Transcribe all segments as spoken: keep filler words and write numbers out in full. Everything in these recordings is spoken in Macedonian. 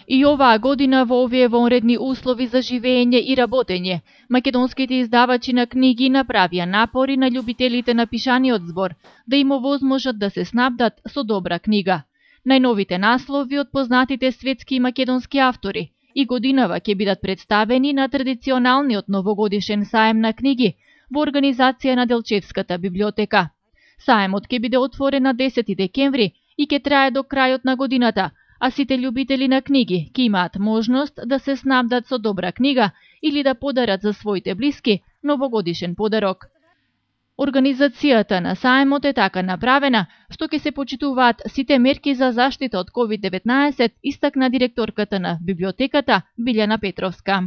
И оваа година во овие вонредни услови за живење и работење, македонските издавачи на книги направија напори на љубителите на пишаниот збор да им овозможат да се снабдат со добра книга. Најновите наслови од познатите светски и македонски автори и годинава ќе бидат представени на традиционалниот новогодишен саем на книги во организација на Делчевската библиотека. Саемот ќе биде отворен на десети декември и ќе трае до крајот на годината, а сите љубители на книги ќе имаат можност да се снабдат со добра книга или да подарат за своите блиски новогодишен подарок. Организацијата на саемот е така направена што ќе се почитуваат сите мерки за заштита од ковид деветнаесет, истакна директорката на библиотеката Билјана Петровска.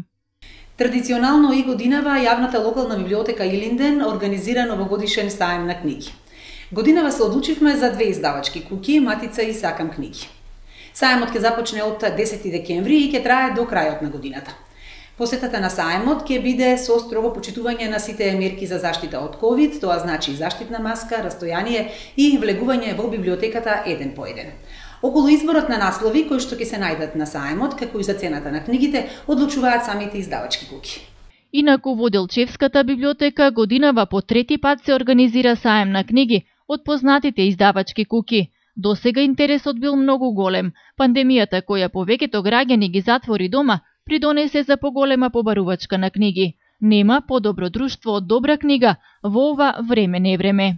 Традиционално и годинава јавната локална библиотека Илинден организира новогодишен саем на книги. Годинава се одлучивме за две издавачки куќи, Матица и Сакам книги. Саемот ќе започне од десети декември и ќе трае до крајот на годината. Посетата на саемот ќе биде со строго почитување на сите мерки за заштита од ковид, тоа значи заштитна маска, растојание и влегување во библиотеката еден по еден. Околу изборот на наслови кои што ќе се најдат на саемот, како и за цената на книгите, одлучуваат самите издавачки куќи. Инаку во Делчевската библиотека годинава по трети пат се организира саем на книги од познатите издавачки куќи. Досега интересот бил многу голем. Пандемијата која повеќето граѓани ги затвори дома, придонесе за поголема побарувачка на книги. Нема подобро друштво од добра книга во ова време не време.